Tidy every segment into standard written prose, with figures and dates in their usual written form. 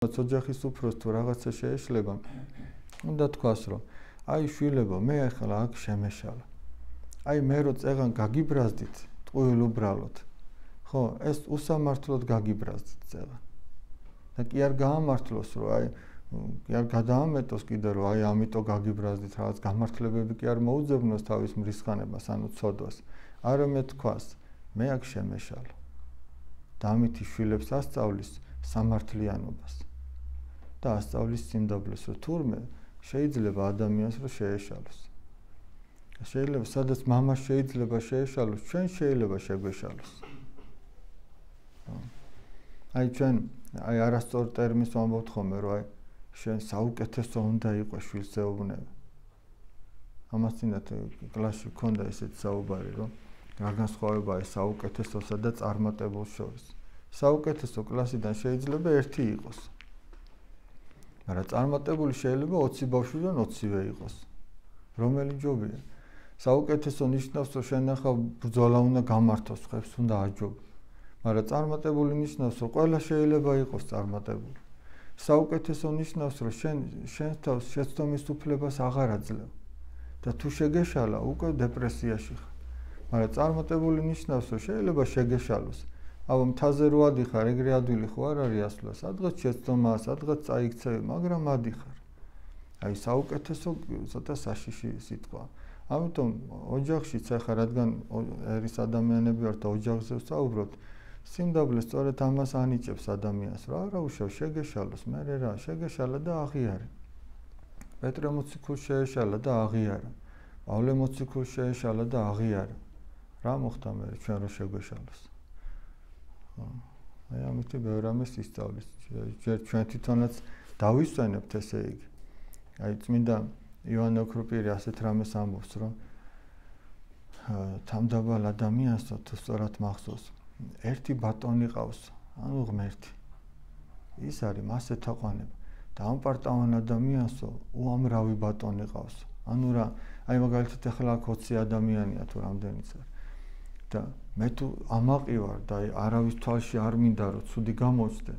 ოჯახის უფროს თუ რაღაცა შეეშლება, უნდა თქვას, რომ აი შვილებო, მე ახლა აქ შემეშალა. აი მე რო წეღან გაგიბრაზდით, ტყუილ უბრალოდ. ხო, ეს უსამართლოდ გაგიბრაზდით წეღან. და კი არ გაამართლოს, რომ აი კი არ გადაამეტოს კიდე, რომ აი ამიტომ გაგიბრაზდით, რაღაც გამართლებები კი არ მოუძებნოს თავის მრისხანებას, ანუ ცოდვას. არამედ თქვას, მე აქ შემეშალა. და ამით შვილებს ასწავლის სამართლიანობას. და ასწავლის სიმდაბლეს, რომ თურმე შეიძლება ადამიანს რომ შეეშალოს. შეიძლება სადაც მამას შეიძლება შეეშალოს, ჩვენ შეიძლება შეგვეშალოს. აი ჩვენ აი არასწორ ტერმინს ვამბობთ ხოლმე, რომ აი შენ საუკეთესო უნდა იყოს შვილსეუბნები. ამას წინათ კლასში ქონდა ესეთი საუბარი, რომ რა განსხვავებაა საუკეთესოსა და წარმატებულს შორის. საუკეთესო კლასიდან შეიძლება ერთი იყოს. მაგრამ წარმატებული შეიძლება 20 ბავშვიდან 20-ვე იყოს. რომელი ჯობია? საუკეთესო ნიშნავს, რომ შენ ახლა ბრძოლა უნდა გამართოს, ხებს უნდა აჯობო. მაგრამ წარმატებული ნიშნავს, რომ ყველა შეიძლება იყოს წარმატებული. საუკეთესო ნიშნავს, რომ შენ თავს შეცდომის უფლებას აღარ აძლევ. და თუ შეგეშალა, უკვე დეპრესიაში ხარ. მაგრამ წარმატებული ნიშნავს, რომ შეიძლება შეგეშალოს. აბა მთაზე რო ადიხარ, ეგრე ადვილი ხო არ არის ასვლა, სადღაც შეცდომაა, სადღაც წაიქცევი, მაგრამ ადიხარ. აი საუკეთესო ცოტა საშიში სიტყვა. ამიტომ ოჯახშიც ახლა რადგან ერის ადამიანები ვართ და ოჯახზე ვსაუბრობთ, სიმდაბლე სწორედ ამას ანიჭებს ადამიანს, რომ არა უშავ შეგეშალოს, მე რა, შეგეშალა და აღიარე. პეტრე მოციქულს შეეშალა და აღიარა. პავლე მოციქულს შეეშალა და აღიარა. რა მოხდა მე ჩვენ რო შეგვეშალოს? აი ამიტომ ბევრ რამეს ისწავლის. ჯერ ჩვენ თვითონაც დავისვენებთ ესე იგი. აი წმინდა იოანე ოქროპირი ასეთ რამეს ამბობს, რომ თამდაბალ ადამიანსო თუ სწორად მახსოვს, ერთი ბატონი ყავს, ანუ ღმერთი. ის არის მასე თაყვანება. და ამ პარტავან ადამიანსო უამრავი ბატონი ყავს. ანუ რა, აი მაგალითად ახლა აქ 20 ადამიანია თუ რამდენიც არის. და მე თუ ამაყი ვარ და არავის თვალში არ მინდა რომ ცუდი გამოჩნდე.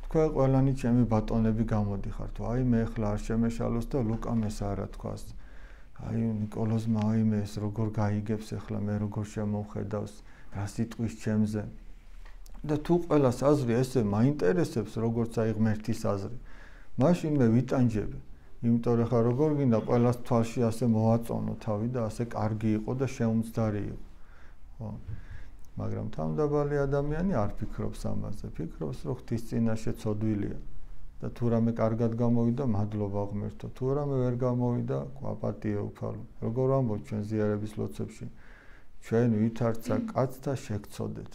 თქვენ ყველანი ჩემი ბატონები გამოდიხართ. აი მე ახლა არ შემეშალოს და ლუკამ ეს არა თქვას. აი ნიკოლოზმა აი მე ეს როგორ გაიგებს ახლა მე როგორ შემოვხედავს რა სიტყვის ჩემზე. და თუ ყველას აზრი ესე მაინტერესებს როგორც აი ღმერთის აზრი. მაშინ მე ვიტანჯები. იმიტომ რომ ხა როგორ გინდა ყველას თვალში ასე მოაწონო თავი და ასე კარგი იყო და შეუმცდარი იყო. ხო. მაგრამ თამდაბალი ადამიანი არ ფიქრობს ამაზე. ფიქრობს, რომ ღვთის წინაშე ცოდვილია. და თუ რამე კარგად გამოვიდა, მადლობა ღმერთო. თუ რამე ვერ გამოვიდა, აპატიე უფალო. როგორ ამბობ ჩვენ ზიარების ლოცვებში, ჩვენ ვითარცა კაცთა შეგცოდეთ.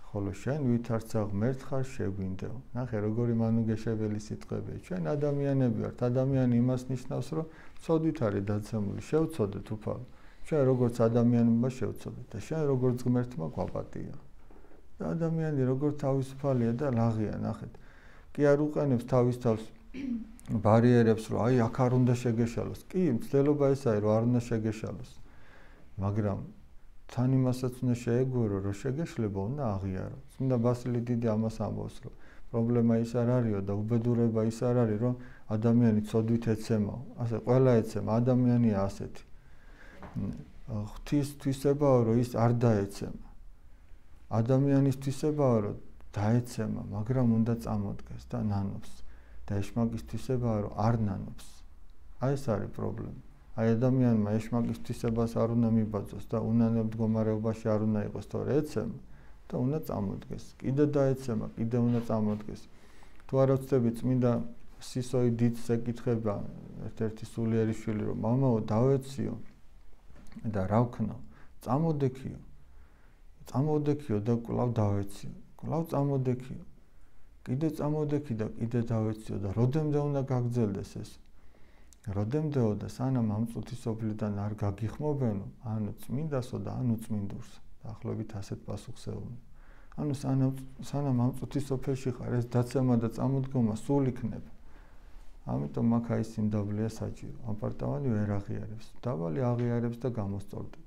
ხოლო შენ ვითარცა ღმერთ ხარ შეგვინდეო. ნახე როგორი მანუგეშებელი სიტყვებია. ჩვენ ადამიანები ვართ. ადამიანი იმას ნიშნავს, რომ ცოდვით არის დაცემული. შევცოდეთ უფალო. ჩვენ როგორც ადამიანებმა შევცოდეთ და შენ როგორც ღმერთმა გვაპატია. და ადამიანი როგორც თავისუფალია და ლაღია, ნახეთ. კი არ უყენებს თავის თავს ბარიერებს, რომ აი აქ არ უნდა შეგეშალოს. კი, მცდელობა ეს არის, რომ არ უნდა შეგეშალოს. მაგრამ თან იმასაც უნდა შეეგურო, რომ შეგეშლება უნდა აღიარო. წმინდა ბასილი დიდი ამას ამბობს, რომ პრობლემა ის არ არისო და უბედურება ის არ არის, რომ ადამიანი ცოდვით ეცემაო. ასე ყველა ეცემა, ადამიანია ასეთი. ღვთის თვისებაა, რომ ის არ დაეცემა. ადამიანის თვისებაა, რომ დაეცემა, მაგრამ უნდა წამოდგეს და ნანობს. და ეშმაკის თვისებაა, რომ არ ნანობს. აი ეს არის პრობლემა. აი ადამიანმა ეშმაკის თვისებას არ უნდა მიბაძოს და უნანელ მდგომარეობაში არ უნდა იყოს, თორე ეცემა და უნდა წამოდგეს. კიდე დაეცემა, კიდე უნდა წამოდგეს. თუ არ ვწდები წმინდა სისოი დიდს ეკითხება ერთ-ერთი სულიერი შვილი, რომ მამაო დავეციო და რა ვქნო? წამოდექიო. წამოდექიო და კვლავ დავეციო. კვლავ წამოდექიო. კიდე წამოდექი და კიდე დავეციო და როდემდე უნდა გაგრძელდეს ეს? როდემდეო და სანამ ამ წუთის სოფლიდან არ გაგიხმობენო, ანუ წმინდასო და ანუ წმინდურს. დაახლოებით ასეთ პასუხს ეუბნება. ანუ სანამ ამ წუთის სოფელში ხარ, ეს დაცემა და წამოდგომა სულ იქნება. ამიტომ აქ აი სიმდაბლეა საჭირო. ამ პარტავანი ვერ აღიარებს. დაბალი აღიარებს და გამოსწორდება.